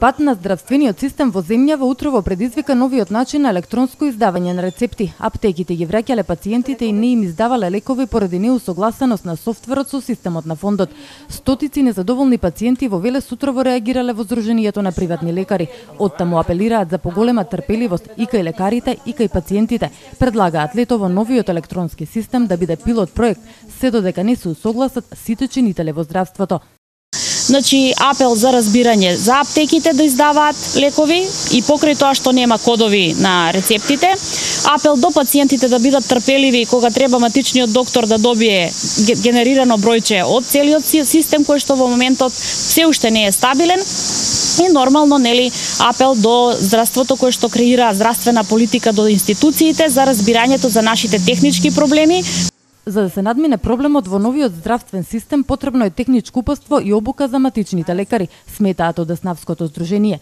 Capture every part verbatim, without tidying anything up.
Пат на здравствениот систем во земјава утрово предизвика новиот начин на електронско издавање на рецепти. Аптеките ги враќале пациентите и не им издавале лекови поради неусогласеност на софтверот со системот на фондот. Стотици незадоволни пациенти во Велес утрово реагирале во Сдруженијето на приватни лекари. Оттаму апелираат за поголема трпеливост и кај лекарите и кај пациентите. Предлагаат летово новиот електронски систем да биде пилот проект, се додека не се усогласат сите чинители во здравството. Значи, апел за разбирање за аптеките да издаваат лекови и покрај тоа што нема кодови на рецептите. Апел до пациентите да бидат трпеливи кога треба матичниот доктор да добие генерирано бројче од целиот систем кој што во моментот се уште не е стабилен. И нормално, нели, апел до здравството кој што креира здравствена политика до институциите за разбирањето за нашите технички проблеми. За да се надмине проблемот во новиот здравствен систем, потребно е техничко упатство и обука за матичните лекари, сметаат од Деснавското здружение.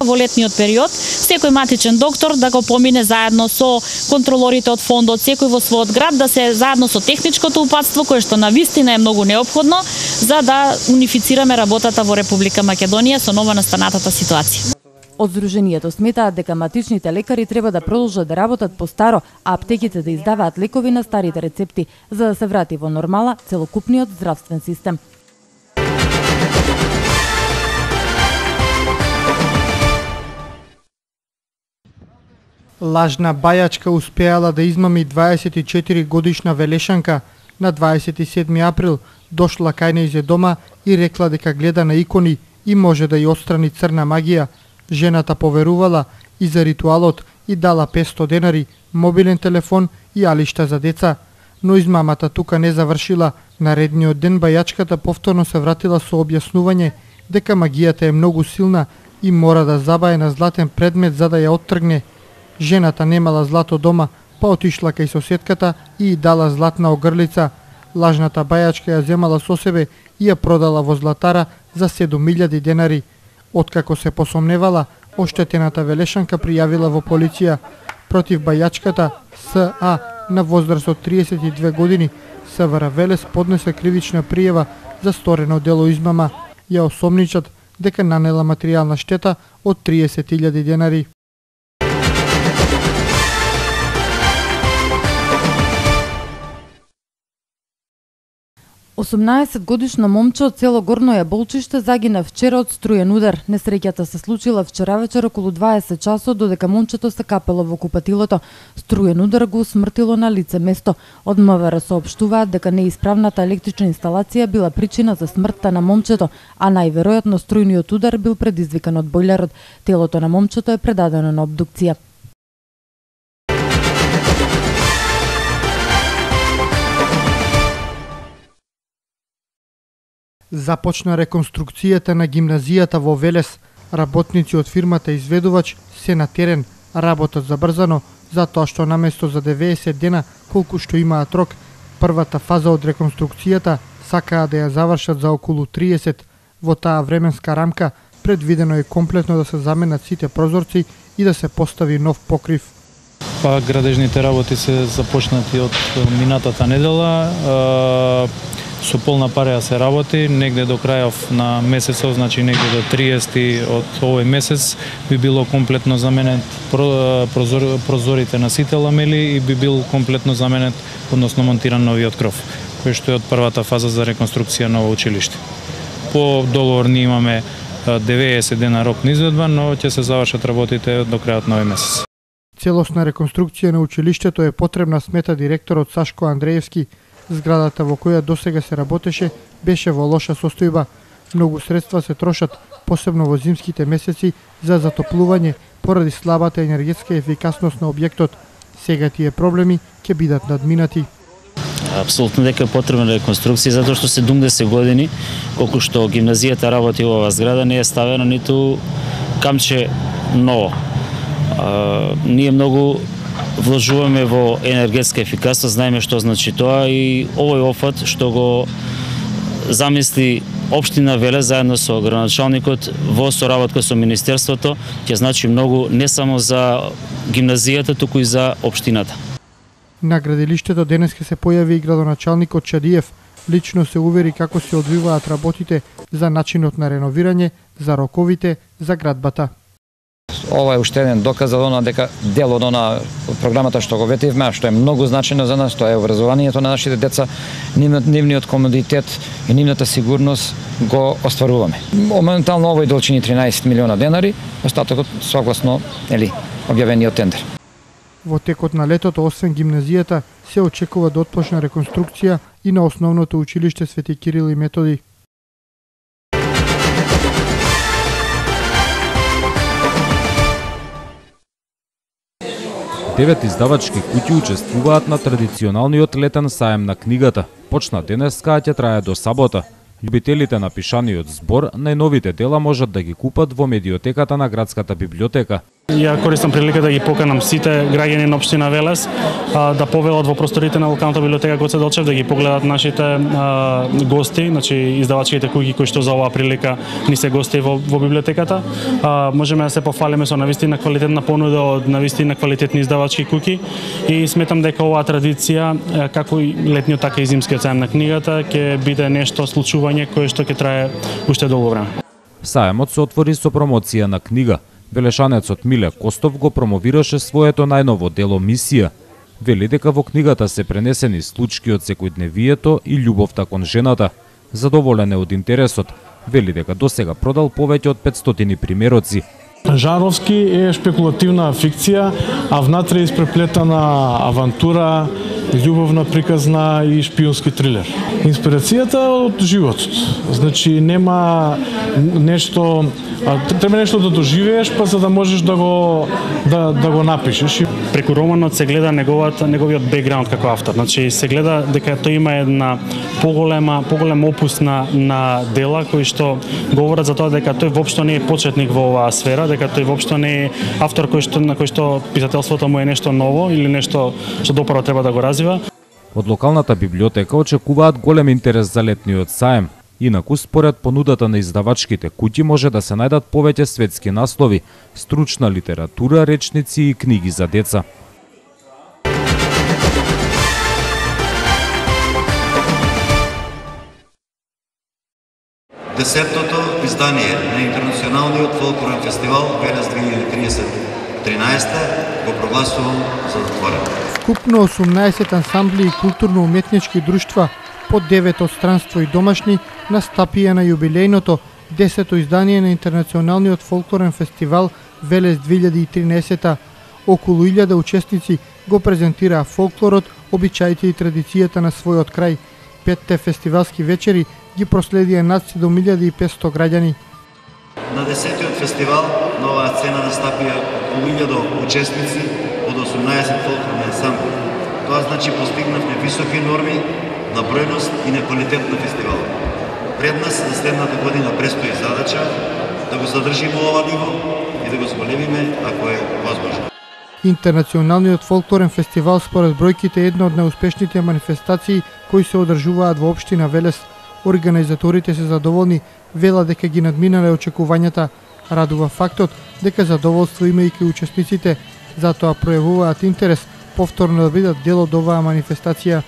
Во летниот период, секој матичен доктор да го помине заедно со контролорите од фондот, секој во својот град да се заедно со техничкото упатство, кое што навистина е многу неопходно, за да унифицираме работата во Република Македонија со нова настанатата ситуација. Од Сдруженијето сметаат дека матичните лекари треба да продолжат да работат по старо, а аптеките да издаваат лекови на старите рецепти, за да се врати во нормала целокупниот здравствен систем. Лажна бајачка успеала да измами дваесет и четири годишна велешанка. На дваесет и седми април дошла кај нејзе дома и рекла дека гледа на икони и може да ја отстрани црна магија. Жената поверувала и за ритуалот и дала петсто денари, мобилен телефон и алишта за деца. Но измамата тука не завршила. Наредниот ден бајачката повторно се вратила со објаснување дека магијата е многу силна и мора да забае на златен предмет за да ја оттргне. Жената немала злато дома, па отишла кај соседката и дала златна огрлица. Лажната бајачка ја земала со себе и ја продала во златара за седум илјади денари. Откако се посомневала, оштетената велешанка пријавила во полиција. Против бајачката С А на возраст од триесет и две години, СВР Велес поднесе кривична пријава за сторено дело измама. Ја осомничат дека нанела материјална штета од триесет илјади денари. осумнаесет годишно момче од село Горно Јаболчиште загина вчера од струен удар. Несреќата се случила вчера вечер околу дваесет часот, додека момчето се капело во купатилото. Струен удар го усмртило на лице место. Од МВР соопштуваат дека неисправната електрична инсталација била причина за смртта на момчето, а најверојатно струјниот удар бил предизвикан од бојлерот. Телото на момчето е предадено на обдукција. Започна реконструкцијата на гимназијата во Велес. Работници од фирмата изведувач се на терен, работат забрзано, затоа што наместо за деветдесет дена, колку што имаат рок, првата фаза од реконструкцијата сакаа да ја завршат за околу триесет. Во таа временска рамка предвидено е комплетно да се заменат сите прозорци и да се постави нов покрив. Па градежните работи се започнати од минатата недела. Со полна пареја се работи, негде до крајов на месецов, значи негде до триесети од овој месец би било комплетно заменет прозор, прозорите на сите ламели и би бил комплетно заменет, односно монтиран новиот кров, кој што е од првата фаза за реконструкција на ово училиште. По договор ние имаме деветдесет дена рок на изведба, но ќе се завршат работите до крајот на овој месец. Целосна реконструкција на училиштето е потребна, смета директорот Сашко Андреевски. Зградата во која досега се работеше беше во лоша состојба. Многу средства се трошат, посебно во зимските месеци, за затоплување поради слабата енергетска ефикасност на објектот. Сега тие проблеми ќе бидат надминати. Апсолутно дека е потребна реконструкција, затоа што седумдесет години, колку што гимназијата работи во оваа зграда, не е ставено ниту камче ново. А, ние многу вложуваме во енергетска ефикасност, знаеме што значи тоа и овој офат што го замисли општина Велес заедно со градоначалникот во соработка со министерството ќе значи многу не само за гимназијата, туку и за општината. На градилиштето денес ќе се појави и градоначалникот Чадиев. Лично се увери како се одвиваат работите за начинот на реновирање, за роковите, за градбата. Ова е уште еден доказ за она дека дел од она програмата што го ветивме, што е многу значајно за нас, тоа е образованието на нашите деца, нивниот комодитет и нивната сигурност го остваруваме. Моментално овој долчини тринаесет милиона денари, остатокот согласно, ели, објавениот тендер. Во текот на летото, освен гимназијата, се очекува да отпочне реконструкција и на основното училиште Свети Кирил и Методи. Девет издавачки куќи учествуваат на традиционалниот летен саем на книгата. Почна денеска, а ќе трае до сабота. Љубителите на пишаниот збор најновите дела можат да ги купат во медиотеката на градската библиотека. Ја користам прилика да ги поканам сите граѓани на општина Велес а, да повелат во просторите на локалната библиотека Гоце Делчев, да ги погледат нашите а, гости, значи издавачките куќи кои што за оваа прилика ни се гости во, во библиотеката. А, можеме да се пофалиме со навистина квалитетна понуда од навистина квалитетни издавачки куќи и сметам дека оваа традиција, како и летниот така и зимскиот саем на книгата, ќе биде нешто случување кое што ќе трае уште долго време. Саемот се отвори со промоција на книга. Велешанецот Миле Костов го промовираше своето најново дело Мисија. Вели дека во книгата се пренесени случки од секојдневието и љубовта кон жената. Задоволен е од интересот. Вели дека досега продал повеќе од петстотини примероци. Жанровски е шпекулативна фикција, а внатре е испреплетана авантура, љубовна приказна и шпионски трилер. Инспирацијата од животот. Значи нема нешто, треба нешто да доживееш па за да можеш да го да да го напишеш. Преку романот се гледа неговата неговиот бекграунд како автор. Значи се гледа дека тој има една поголема поголем опус на на дела кои што говорат за тоа дека тој воопшто не е почетник во оваа сфера, дека тој воопшто не е автор кој што на кој што писателството му е нешто ново или нешто што допро треба да го развива. Од локалната библиотека очекуваат голем интерес за летниот саем. Инаку, според понудата на издавачките куќи може да се најдат повеќе светски наслови, стручна литература, речници и книги за деца. Десетото издание на Интернационалниот фолклорен фестивал Велес две илјади триесет тринаесета го прогласувам за затворен. Вкупно осумнаесет ансамбли и културно-уметнички друштва по девет од странство и домашни настапија на јубилејното десето издание на Интернационалниот фолклорен фестивал Велес две илјади тринаесета. Околу илјада учесници го презентираа фолклорот, обичаите и традицијата на својот крај. Петте фестивалски вечери ги проследија над седум илјади и петсто граѓани. На десетиот фестивал на оваа сцена настапија околу илјада учесници од осумнаесет фолклорни ансамбли. Тоа значи постигнавме високи норми на бројност и на квалитет на фестивал. Пред нас за следната година престои задача да го задржиме ова ниво и да го зголемиме ако е возможно. Интернационалниот фолклорен фестивал според бројките е една од најуспешните манифестации кои се одржуваат во општина Велес. Организаторите се задоволни, вела дека ги надминале очекувањата. Радува фактот дека задоволство имајќи учесниците, затоа пројавуваат интерес повторно да бидат дел од оваа манифестација.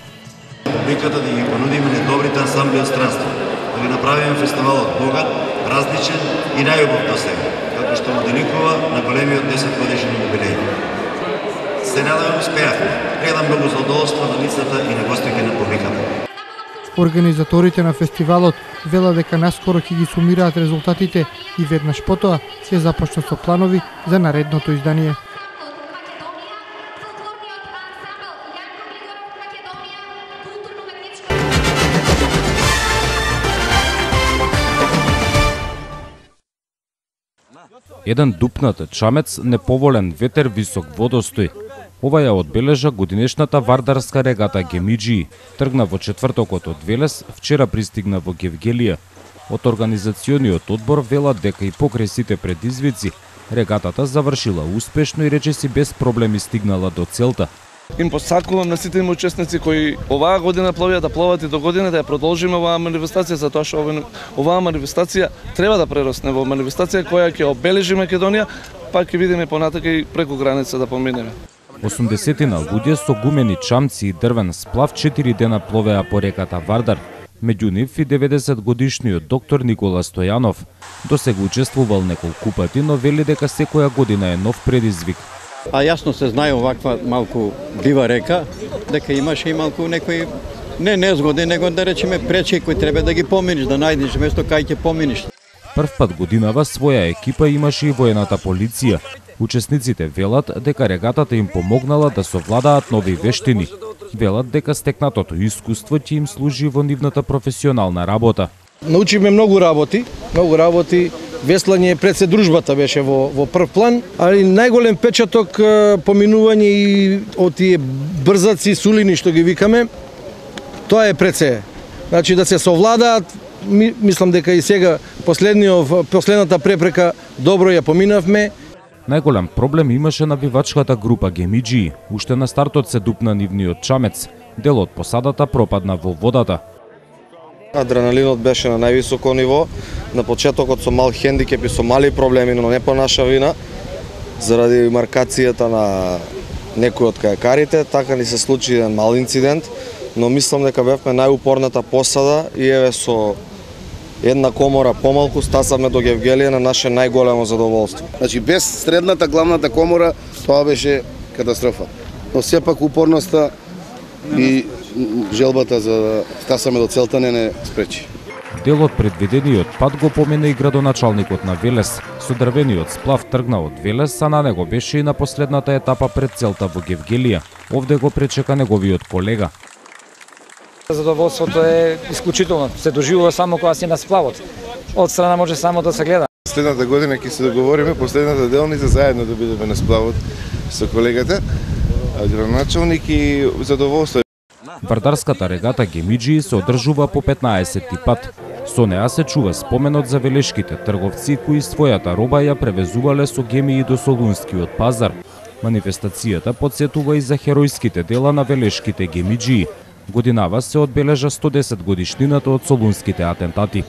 Публиката да ги понудиме недобрите ансамбли од странство, да ги направиме фестивалот богат, различен и најубав до сега, како што му деликува на големиот десет годишен јубилеј. Се надевам успеавме. Гледам многу задоволство на лицата и на гостите на публиката. Организаторите на фестивалот вела дека наскоро ќе ги сумираат резултатите и веднаш потоа ќе започнат со планови за наредното издание. Еден дупнат чамец, неповолен ветер, висок водостој. Ова ја одбележа годинешната вардарска регата Гемиџии. Тргна во четвртокот од Велес, вчера пристигна во Гевгелија. Од организациониот одбор велат дека и покрај сите предизвици, регатата завршила успешно и речиси без проблеми стигнала до целта. Им посакувам на сите им учесници кои оваа година пловија да пловат и до година да ја продолжиме оваа манифестација, затоа што оваа манифестација треба да прерасне во манифестација која ќе обележи Македонија, па ќе видиме понатака и преку граница да поминеме. осумдесетина луѓе со гумени чамци и дрвен сплав четири дена пловеа по реката Вардар. Меѓу нив и деветдесет годишниот доктор Никола Стојанов. Досега учествувал неколку пати, но вели дека секоја година е нов предизвик. А јасно се знае оваква малку дива река, дека имаше и малку некои не незгоди, него да речеме пречки кои треба да ги поминиш, да најдеш место кај ќе поминиш. Прв пат годинава своја екипа имаше и воената полиција. Учесниците велат дека регатата им помогнала да совладаат нови вештини. Велат дека стекнатото искуство ќе им служи во нивната професионална работа. Научиме многу работи, многу работи. Веслање пред се дружбата беше во, во прв план, али најголем печаток поминување и од тие брзаци, сулини што ги викаме, тоа е пред се. Значи да се совладаат, ми, мислам дека и сега последниот последната препрека добро ја поминавме. Најголем проблем имаше навивачката група Гемиџии. Уште на стартот се дупна нивниот чамец. Дел од посадата пропадна во водата. Адреналинот беше на највисоко ниво. На почетокот со мал хендикеп и со мали проблеми, но не по наша вина, заради маркацијата на некои од кајакарите, така ни се случи еден мал инцидент, но мислам дека бевме најупорната посада и еве со една комора помалку стасавме до Гевгелија на наше најголемо задоволство. Значи без средната главната комора тоа беше катастрофа. Но сепак упорноста и желбата за да стасаме до целта не не спречи. Дел од предвидениот пат го помина и градоначалникот на Велес. Со дрвениот сплав тргна од Велес, а на него беше и на последната етапа пред целта во Гевгелија. Овде го пречека неговиот колега. Задоволството е исклучително. Се доживува само кога си на сплавот. Од страна може само да се гледа. Следната година ќе се договориме последната делница заедно да бидеме на сплавот со колегата, градоначалник и задоволство. Вардарската регата Гемиџии се одржува по петнаесетти пат. Со неа се чува споменот за велешките трговци кои својата роба ја превезувале со гемии до Солунскиот пазар. Манифестацијата потсетува и за херојските дела на велешките Гемиџии. Годинава се одбележа сто десет годишнината од Солунските атентати.